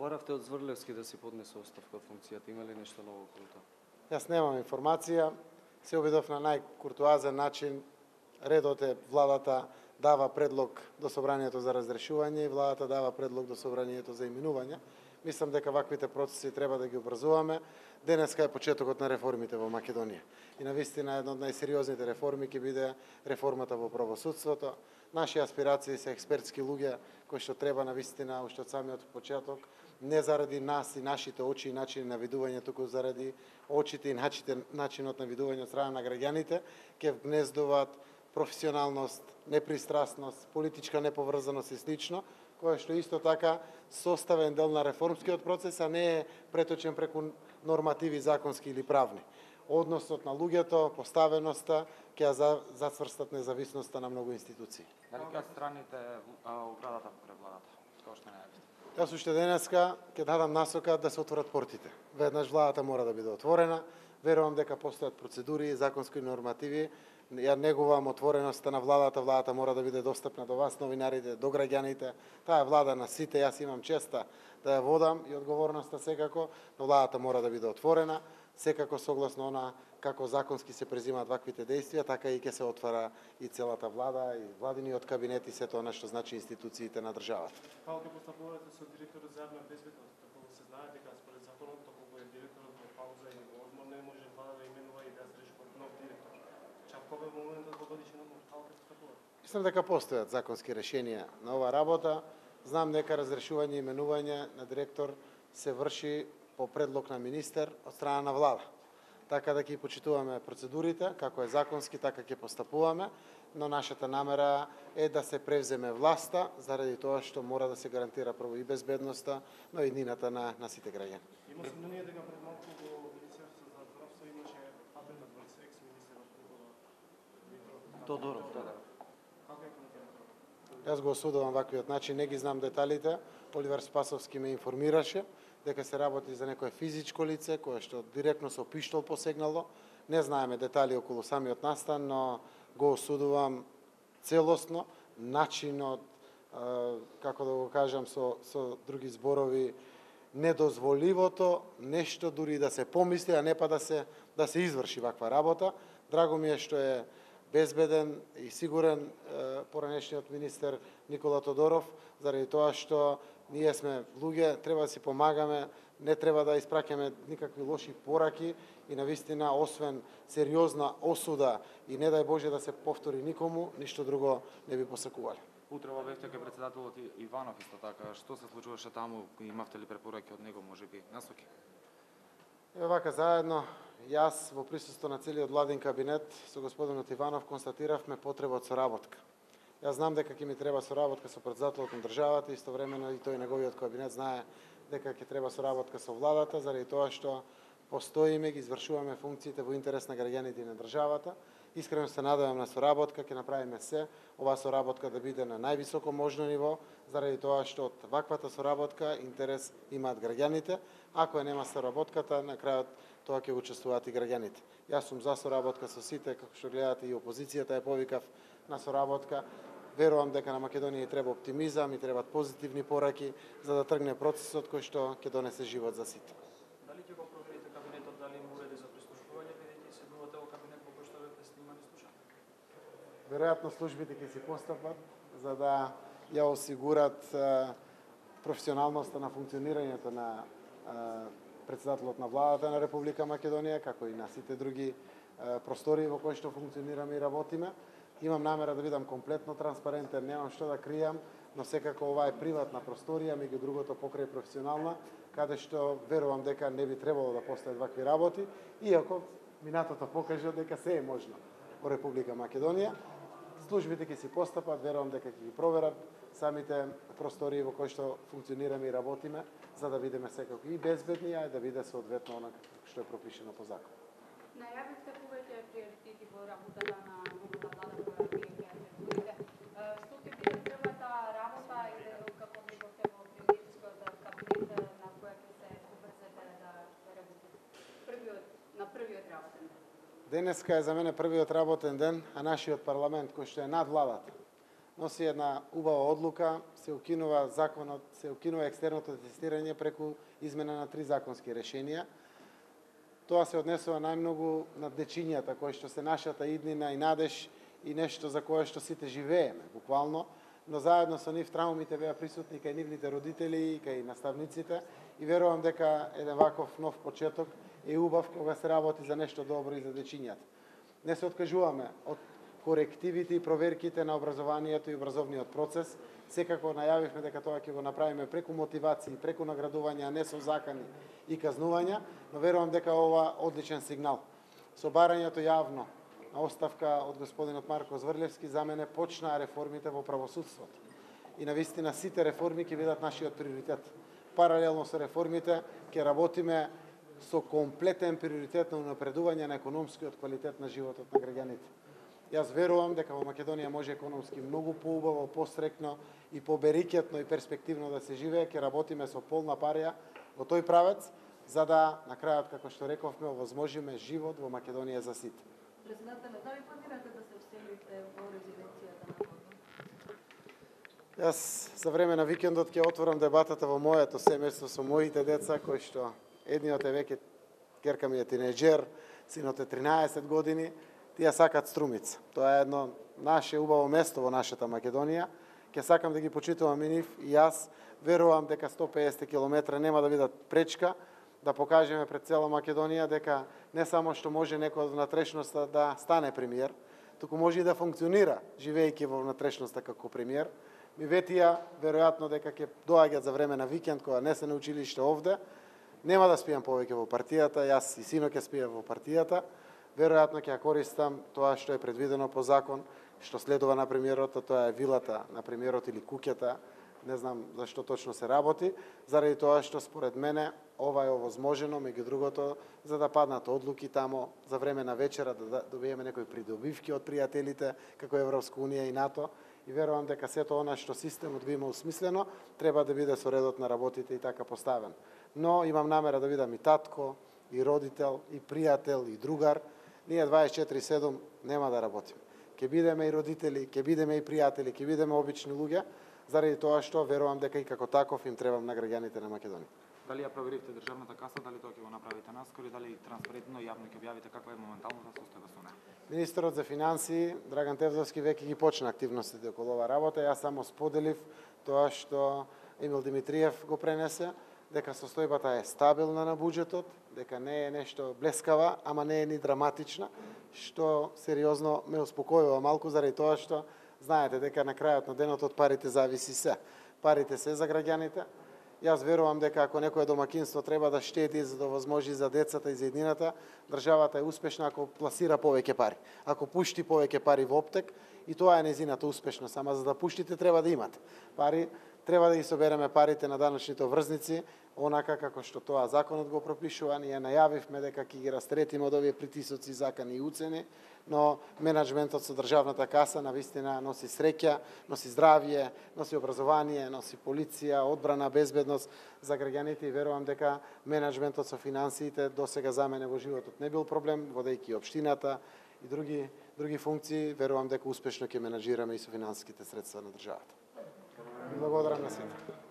Баравте од Зврлевски да си поднесе оставка од функцијата. Има ли нешто ново околу тоа? Јас немам информација. Се обидов на најкуртуазен начин. Редот е владата дава предлог до собранието за разрешување и владата дава предлог до собранието за именување. Мислам дека ваквите процеси треба да ги обрзуваме. Денеска е почетокот на реформите во Македонија. И навистина една од најсериозните реформи ќе биде реформата во правосудството. Наши аспирации се експертски луѓе кои што треба навистина уште од самиот почеток, не заради нас и нашите очи и начини на видување, туку заради очите и начинот на видување од страна на граѓаните, ќе вгнездуваат професионалност, непристрасност, политичка неповрзаност и слично, која што исто така составен дел на реформскиот процес, а не е преточен преку нормативи законски или правни. Односот на луѓето, поставеноста, ќе ја зацврстат независноста на многу институции. Дали ќе страните оградата пред владата, како што најавите? Јас уште денеска ќе дадам насока да се отворат портите. Веднаш владата мора да биде отворена. Верувам дека постојат процедури, законски нормативи. Ја негувам отвореноста на владата. Владата мора да биде достапна до вас, новинарите, до граѓаните. Таа е влада на сите. Јас имам честа да ја водам и одговорноста секако, но владата мора да биде отворена. Секако согласно она како законски се презимаат ваквите действија, така и ќе се отвара и целата влада, и владиниот кабинет и сето она што значи институциите на државата. Како ќе постапувате со директорот за јавна безбедност? Како се знае дека според законот, како е директорот во пауза и одмор, не може влада да именува и да се реши нов директор. Чакаме во моментот во годишен одмор, како ќе постапувате? Мислам дека постојат законски решенија на оваа работа. Знам дека разрешување и именување на директор се врши по предлог на министер од страна на влада. Така да ќе почитуваме процедурите, како е законски, така ќе постапуваме, но нашата намера е да се превземе власта, заради тоа што мора да се гарантира прво и безбедноста, но и иднината на сите граѓани. Има сомнение дека пред малку во Министерството за здравство имаше атентат врз екс-министерот Тодоров. Како е коментирате? Јас го осудувам ваквиот начин, не ги знам деталите. Оливер Спасовски ме информираше дека се работи за некое физичко лице кое што директно со пиштол посегнало. Не знаеме детали околу самиот настан, но го осудувам целосно начинот, како да го кажам со други зборови, недозволивото нешто дури да се помисли, а не па да се изврши ваква работа. Драго ми е што е безбеден и сигурен поранешниот министер Никола Тодоров, заради тоа што ние сме луѓе, треба да си помагаме, не треба да испраќаме никакви лоши пораки и навистина, освен сериозна осуда и не дај Боже да се повтори никому, ништо друго не би посакувале. Утрева бевте кај председателот Иванов исто така. Што се случуваше таму? Имавте ли препораки од него, можеби насоки? Еве вака заедно, јас во присуство на целиот владин кабинет со господинот Иванов констатиравме потреба од соработка. Јас знам дека ќе ми треба соработка со председателот на државата, истовремено и тој неговиот кабинет знае дека ќе треба соработка со владата, заради тоа што постоиме, ги извршуваме функциите во интерес на граѓаните и на државата. Искрено се надевам на соработка, ќе направиме се оваа соработка да биде на највисоко можно ниво, заради тоа што од ваквата соработка интерес имаат граѓаните. Ако нема соработката, на крајот тоа ќе учествуваат и граѓаните. Јас сум за соработка со сите, како што гледате и опозицијата е повикав на соработка. Верувам дека на Македонија треба оптимизам и требаат позитивни пораки за да тргне процесот кој што ќе донесе живот за сите. Дали ќе го проверите кабинетот, дали има уреди за прислушување, бидејќи седнувате во кабинет во кој што бевте снимани и слушани? Веројатно службите ќе си постапат за да ја осигурат професионалноста на функционирањето на председателот на владата на Република Македонија, како и на сите други простори во кои што функционираме и работиме. Имам намера да бидам комплетно транспарентен, немам што да кријам, но секако ова е приватна просторија, меѓу другото покрај професионална, каде што верувам дека не би требало да постојат вакви работи, иако минатото покажа дека се е можно во Република Македонија. Службите ќе си постапат, верувам дека ќе ги проверат самите простории во кои што функционираме и работиме, за да бидеме секако и безбедни, а и да биде соодветно она што е пропишено по закон. Најавивте повеќе приоритети во работата на новата влада која вие ќе ръководите. Што ќе биде првата работа или како викавте во приоритетскиот кабинет на која ќе се побрзете да работите? На првиот работен ден. Денеска е за мене првиот работен ден, а нашиот парламент кој што е над владата, носи една убава одлука, се укинува законот, се укинува екстерното тестирање преку измена на 3 законски решенија. Тоа се однесува најмногу на дечињата, кои што се нашата иднина и надеж и нешто за кое што сите живееме, буквално, но заедно со нив траумите беа присутни кај нивните родители и кај наставниците и верувам дека еден ваков нов почеток е убав кога се работи за нешто добро и за дечињата. Не се откажуваме од корективите и проверките на образованието и образовниот процес. Секако најавивме дека тоа ќе го направиме преку мотивации, преку наградување, а не со закани и казнувања, но верувам дека ова одличен сигнал. Со барањето јавно на оставка од господинот Марко Зврлевски за мене почнаа реформите во правосудството. И навистина сите реформи ќе бидат нашиот приоритет. Паралелно со реформите ќе работиме со комплетен приоритет на унапредување на економскиот квалитет на животот на граѓаните. Јас верувам дека во Македонија може економски многу поубаво, посрекно и поберикетно и перспективно да се живее. Ќе работиме со полна парија во тој правец, за да на крајот, како што рековме, овозможиме живот во Македонија за сите. Президенте, дали планирате да се вселите во резиденцијата на Водно? Јас за време на викендот ќе отворам дебатата во моето семејство со моите деца, кои што едниот е веќе, керка ми е тинеџер, синот е 13 години, тие сакат Струмица. Тоа е едно наше убаво место во нашата Македонија. Ќе сакам да ги почитувам и нив и јас верувам дека 150 км нема да бидат пречка да покажеме пред цела Македонија дека не само што може некој од внатрешноста да стане премиер, туку може и да функционира живеејќи во внатрешноста како премиер. Ми ветија веројатно дека ќе доаѓаат за време на викенд кога не се на училиште овде. Нема да спијам повеќе во партијата, јас и сино ќе спијам во партијата. Веројатно ќе ја користам тоа што е предвидено по закон, што следува на премиерот, тоа е вилата на премиерот или куќата, не знам зашто точно се работи, заради тоа што според мене ова е овозможено, меѓу другото, за да паднат одлуки тамо за време на вечера, да добиеме некои придобивки од пријателите, како Европска унија и НАТО, и верувам дека сето она што системот го има усмислено, треба да биде со редот на работите и така поставен. Но имам намера да бидам и татко, и родител, и пријател, и другар. Ние 24/7 нема да работиме. Ќе бидеме и родители, ќе бидеме и пријатели, ќе бидеме обични луѓе, заради тоа што верувам дека и како таков им требам на граѓаните на Македонија. Дали ја проверивте државната каса, дали тоа ќе го направите наскоро, дали транспарентно јавно ќе објавите каква е моменталната состојба со неа? Министерот за финансии Драган Тевзовски веќе ги почна активностите околу оваа работа. Јас само споделив тоа што Емил Димитриев го пренесе, дека состојбата е стабилна на буџетот, дека не е нешто блескава, ама не е ни драматична, што сериозно ме успокојува малку заради тоа што знаете дека на крајот на денот од парите зависи се. Парите се за граѓаните. Јас верувам дека ако некое домакинство треба да штеди за да возможи за децата и за еднината, државата е успешна ако пласира повеќе пари. Ако пушти повеќе пари во оптек, и тоа е незината успешност, ама за да пуштите треба да имате пари. Треба да ги собереме парите на даночните врзници, онака како што тоа законот го пропишува. Ние најавивме дека ќе ги растретиме од овие притисоци, закани и уцени, но менеджментот со државната каса навистина носи среќа, носи здравје, носи образование, носи полиција, одбрана, безбедност за граѓаните и верувам дека менеджментот со финансиите досега за мене во животот не бил проблем, водејќи општината и други функции, верувам дека успешно ќе менаџираме и со финансиските средства на државата. Благодарам на сите.